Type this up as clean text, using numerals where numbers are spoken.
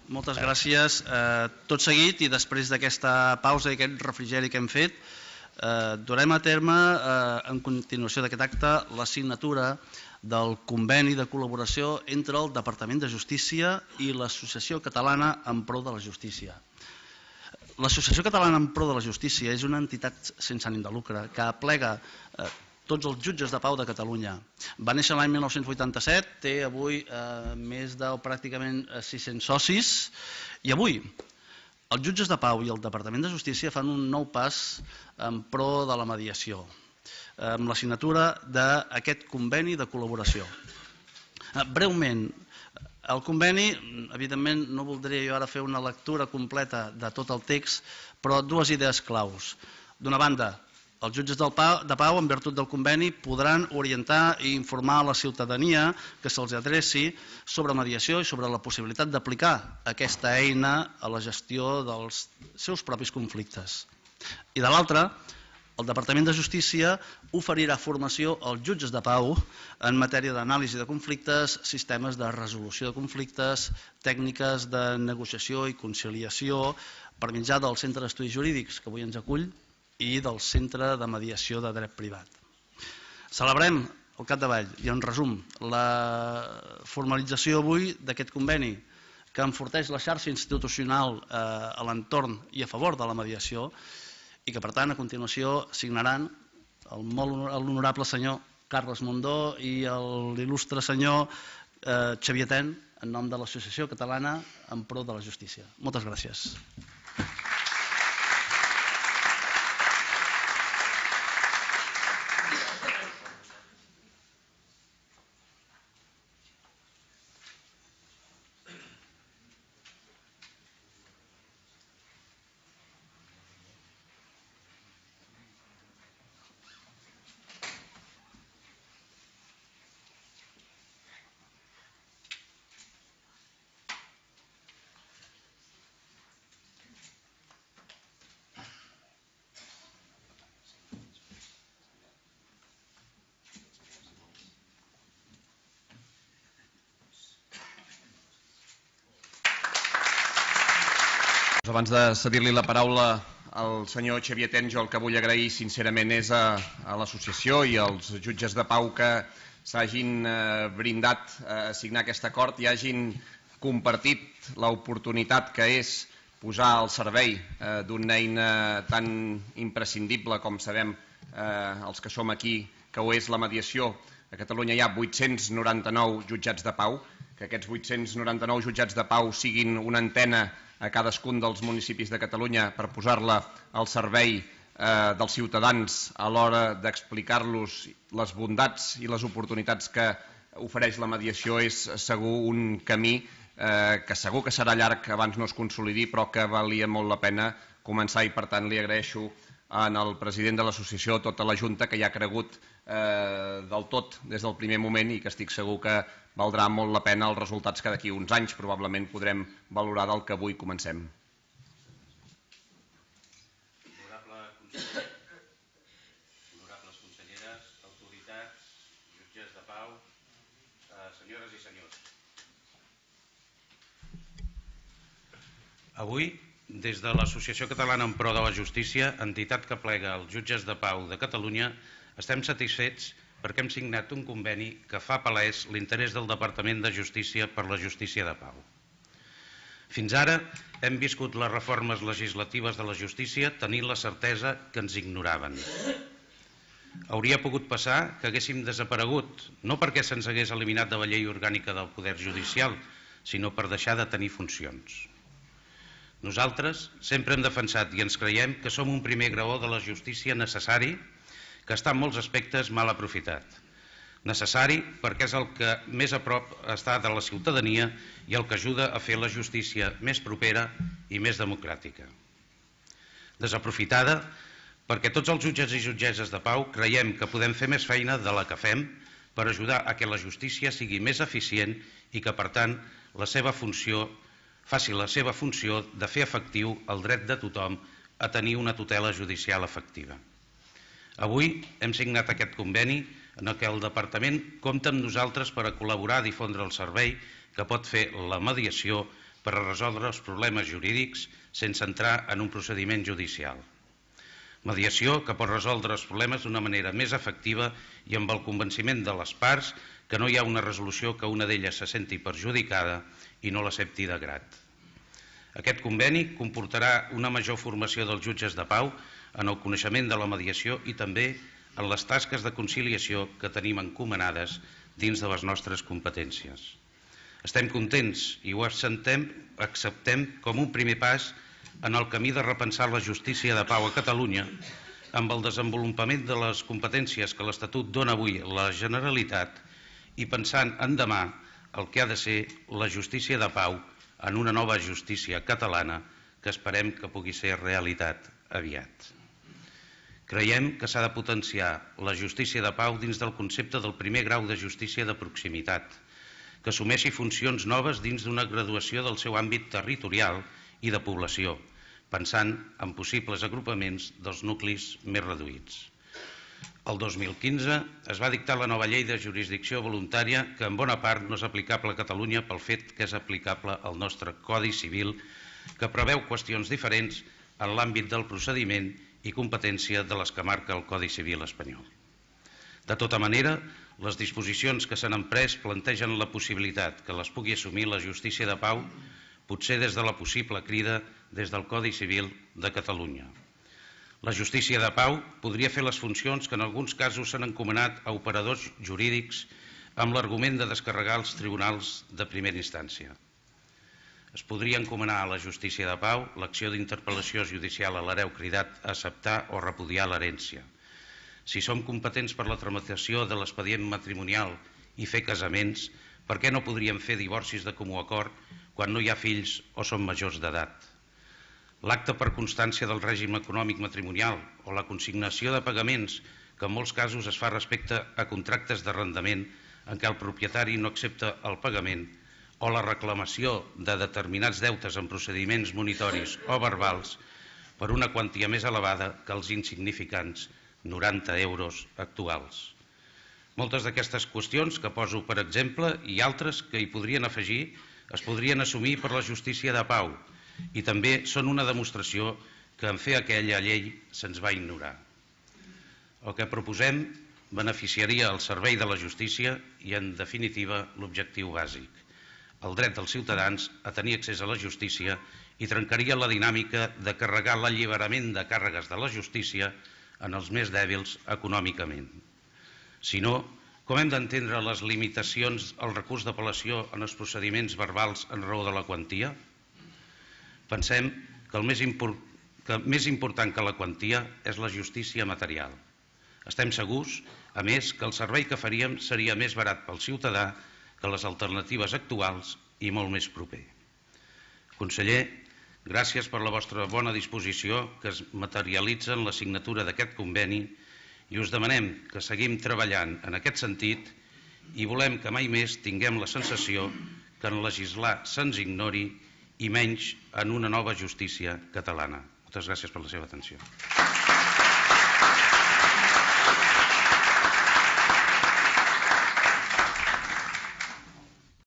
Moltes gràcies. Tot seguit i després d'aquesta pausa i aquest refrigeri que hem fet, durem a terme, en continuació d'aquest acte, la signatura del conveni de col·laboració entre el Departament de Justícia i l'Associació Catalana en Pro de la Justícia. L'Associació Catalana en Pro de la Justícia és una entitat sense ànim de lucre que aplega tots els jutges de pau de Catalunya. Va néixer l'any 1987, té avui més de pràcticament 600 socis i avui els jutges de pau i el Departament de Justícia fan un nou pas en pro de la mediació amb la signatura d'aquest conveni de col·laboració. Breument, el conveni, evidentment no voldria jo ara fer una lectura completa de tot el text, però dues idees claus. D'una banda, els jutges de pau, en virtut del conveni, podran orientar i informar a la ciutadania que se'ls adreci sobre mediació i sobre la possibilitat d'aplicar aquesta eina a la gestió dels seus propis conflictes. I de l'altra, el Departament de Justícia oferirà formació als jutges de pau en matèria d'anàlisi de conflictes, sistemes de resolució de conflictes, tècniques de negociació i conciliació per mitjà del Centre d'Estudis Jurídics que avui ens acull i del Centre de Mediació de Dret Privat. Celebrem al capdavall i en resum la formalització avui d'aquest conveni que enforteix la xarxa institucional a l'entorn i a favor de la mediació i que per tant a continuació signaran l'honorable senyor Carles Mundó i l'il·lustre senyor Xavier Ten en nom de l'Associació Catalana en Pro de la Justícia. Moltes gràcies. Abans de cedir-li la paraula al senyor Xavier Ten, jo el que vull agrair sincerament és a l'associació i als jutges de pau que s'hagin brindat a signar aquest acord i hagin compartit l'oportunitat que és posar al servei d'una eina tan imprescindible com sabem els que som aquí, que ho és la mediació. A Catalunya hi ha 899 jutjats de pau, que aquests 899 jutjats de pau siguin una antena a cadascun dels municipis de Catalunya per posar-la al servei dels ciutadans a l'hora d'explicar-los les bondats i les oportunitats que ofereix la mediació és segur un camí que segur que serà llarg abans no es consolidi, però que valia molt la pena començar i per tant li agraeixo al president de l'associació, tota la Junta, que hi ha cregut del tot des del primer moment i que estic segur que valdrà molt la pena els resultats que d'aquí uns anys probablement podrem valorar del que avui comencem. Honorable conseller, honorables conselleres, autoritats, jutges de pau, senyores i senyors. Avui, des de l'Associació Catalana en Pro de la Justícia, entitat que plega els jutges de pau de Catalunya, estem satisfets perquè hem signat un conveni que fa palès l'interès del Departament de Justícia per la justícia de pau. Fins ara hem viscut les reformes legislatives de la justícia tenint la certesa que ens ignoraven. Hauria pogut passar que haguéssim desaparegut, no perquè se'ns hagués eliminat de la llei orgànica del Poder Judicial, sinó per deixar de tenir funcions. Nosaltres sempre hem defensat i ens creiem que som un primer graó de la justícia necessari que està en molts aspectes mal aprofitat. Necessari perquè és el que més a prop està de la ciutadania i el que ajuda a fer la justícia més propera i més democràtica. Desaprofitada perquè tots els jutges i jutgesses de pau creiem que podem fer més feina de la que fem per ajudar a que la justícia sigui més eficient i que, per tant, faci la seva funció de fer efectiu el dret de tothom a tenir una tutela judicial efectiva. Avui hem signat aquest conveni en què el Departament compta amb nosaltres per a col·laborar a difondre el servei que pot fer la mediació per a resoldre els problemes jurídics sense entrar en un procediment judicial. Mediació que pot resoldre els problemes d'una manera més efectiva i amb el convenciment de les parts que no hi ha una resolució que una d'elles se senti perjudicada i no l'accepti de grat. Aquest conveni comportarà una major formació dels jutges de pau en el coneixement de la mediació i també en les tasques de conciliació que tenim encomanades dins de les nostres competències. Estem contents i ho acceptem com un primer pas en el camí de repensar la justícia de pau a Catalunya amb el desenvolupament de les competències que l'Estatut dona avui a la Generalitat i pensant en demà el que ha de ser la justícia de pau en una nova justícia catalana que esperem que pugui ser realitat aviat. Creiem que s'ha de potenciar la justícia de pau dins del concepte del primer grau de justícia de proximitat, que assumeixi funcions noves dins d'una graduació del seu àmbit territorial i de població, pensant en possibles agrupaments dels nuclis més reduïts. El 2015 es va dictar la nova llei de jurisdicció voluntària que en bona part no és aplicable a Catalunya pel fet que és aplicable al nostre Codi Civil, que preveu qüestions diferents en l'àmbit del procediment i competència de les que marca el Codi Civil espanyol. De tota manera, les disposicions que s'han emprès plantegen la possibilitat que les pugui assumir la justícia de pau, potser des de la possible crida des del Codi Civil de Catalunya. La justícia de pau podria fer les funcions que en alguns casos s'han encomanat a operadors jurídics amb l'argument de descarregar els tribunals de primera instància. Es podria encomanar a la justícia de pau l'acció d'interpel·lació judicial a l'hereu cridat a acceptar o repudiar l'herència. Si som competents per la tramitació de l'expedient matrimonial i fer casaments, per què no podríem fer divorcis de comú acord quan no hi ha fills o són majors d'edat? L'acte per constància del règim econòmic matrimonial o la consignació de pagaments, que en molts casos es fa respecte a contractes d'arrendament en què el propietari no accepta el pagament, o la reclamació de determinats deutes en procediments monitoris o verbals per una quantia més elevada que els insignificants 90 euros actuals. Moltes d'aquestes qüestions que poso per exemple i altres que hi podrien afegir es podrien assumir per la justícia de pau i també són una demostració que en fer aquella llei se'ns va ignorar. El que proposem beneficiaria el servei de la justícia i, en definitiva, l'objectiu bàsic, el dret dels ciutadans a tenir accés a la justícia i trencaria la dinàmica de carregar l'alliberament de càrregues de la justícia en els més dèbils econòmicament. Si no, com hem d'entendre les limitacions al recurs d'apel·lació en els procediments verbals en raó de la quantia? Pensem que el més important que la quantia és la justícia material. Estem segurs, a més, que el servei que faríem seria més barat pel ciutadà que les alternatives actuals i molt més proper. Conseller, gràcies per la vostra bona disposició que es materialitza en la signatura d'aquest conveni i us demanem que seguim treballant en aquest sentit i volem que mai més tinguem la sensació que en legislar se'ns ignori i menys en una nova justícia catalana. Moltes gràcies per la seva atenció.